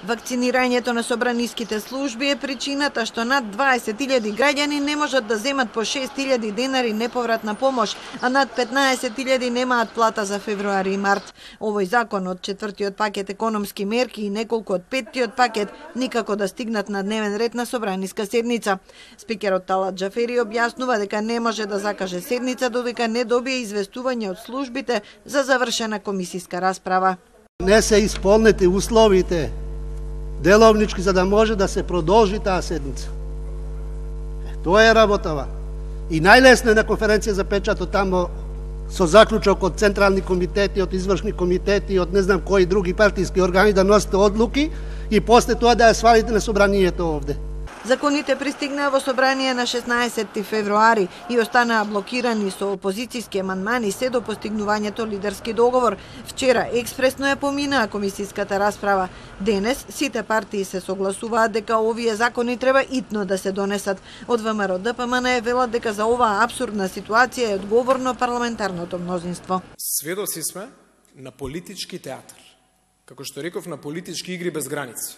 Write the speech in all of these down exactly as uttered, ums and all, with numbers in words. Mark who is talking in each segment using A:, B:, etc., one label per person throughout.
A: Вакцинирањето на собраниските служби е причината што над дваесет илјади граѓани не можат да земат по шест илјади денари неповратна помош, а над петнаесет илјади немаат плата за февруари и март. Овој закон од четвртиот пакет економски мерки и неколку од петтиот пакет никако да стигнат на дневен ред на собраниска седница. Спикерот Талат Џафери објаснува дека не може да закаже седница додека не добие известување од службите за завршена комисиска расправа.
B: Не се исполнети условите деловнички за да може да се продолжи таа седница. Тоа е работава. И најлесно е на конференција за печатот тамо со заклучок од централни комитети, од извршни комитети, од не знам кои други партиски органи да носите одлуки и после тоа да ја свалите на собранието овде.
A: Законите пристигнаа во собрание на шеснаесетти февруари и останаа блокирани со опозициски амандмани се до постигнувањето лидерски договор. Вчера експресно ја поминаа комисиската расправа. Денес сите партии се согласуваат дека овие закони треба итно да се донесат. Од ВМРО Д П М Н е велат дека за оваа апсурдна ситуација е одговорно парламентарното мнозинство.
C: Сведоци сме на политички театар. Како што реков, на политички игри без граници.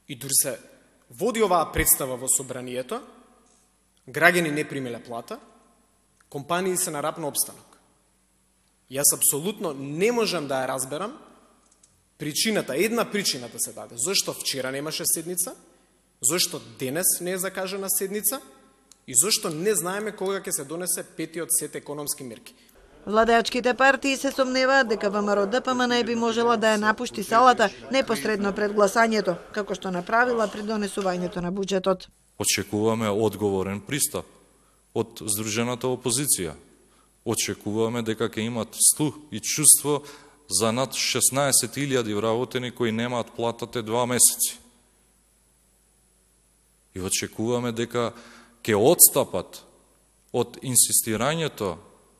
C: И дури се води оваа представа во собранието, граѓани не примеле плата, компании се на рап на обстанок. Јас апсолутно не можам да ја разберам причината, една причина да се даде. Зошто вчера немаше седница, зошто денес не е закажана седница и зошто не знаеме кога ќе се донесе петиот сет економски мерки.
A: Владеачките партии се сомневаат дека ВМРО Д П М Н би можела да ја напушти салата непосредно пред гласањето, како што направила при донесувањето на буџетот.
D: Очекуваме одговорен пристап од здружената опозиција. Очекуваме дека ќе имат слух и чувство за над шеснаесет илјади вработени кои немаат платата два месеци. И очекуваме дека ќе отстапат од инсистирањето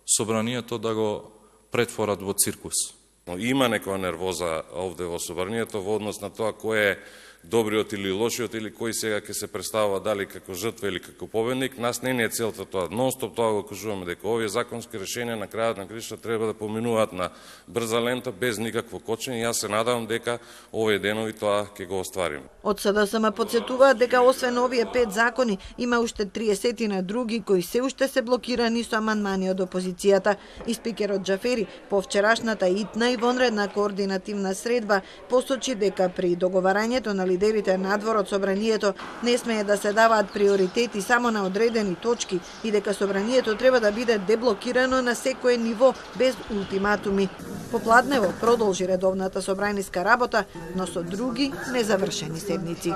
D: собранието да го претворат во циркус.
E: Има некоја нервоза овде во собранието во однос на тоа кој е добриот или лошиот или кој сега ќе се представува дали како жртва или како победник. Нас не ни е целта тоа. Нонстоп тоа го кажуваме дека овие законски решенија на крајот на кришта треба да поминуваат на брза лента без никакво кочење. Јас се надевам дека овие денови тоа ќе го оствариме.
A: Од С Д С М потсетуваат дека освен овие пет закони има уште триесет на други кои се уште се блокирани со амандмани од опозицијата. И спикерот Џафери по вчерашната итна и вонредна координативна средба посочи дека при договарањето на лидерите надвор од собранието не смее да се даваат приоритети само на одредени точки и дека собранието треба да биде деблокирано на секое ниво без ултиматуми. Попладнево продолжи редовната собраниска работа, но со други незавршени седници.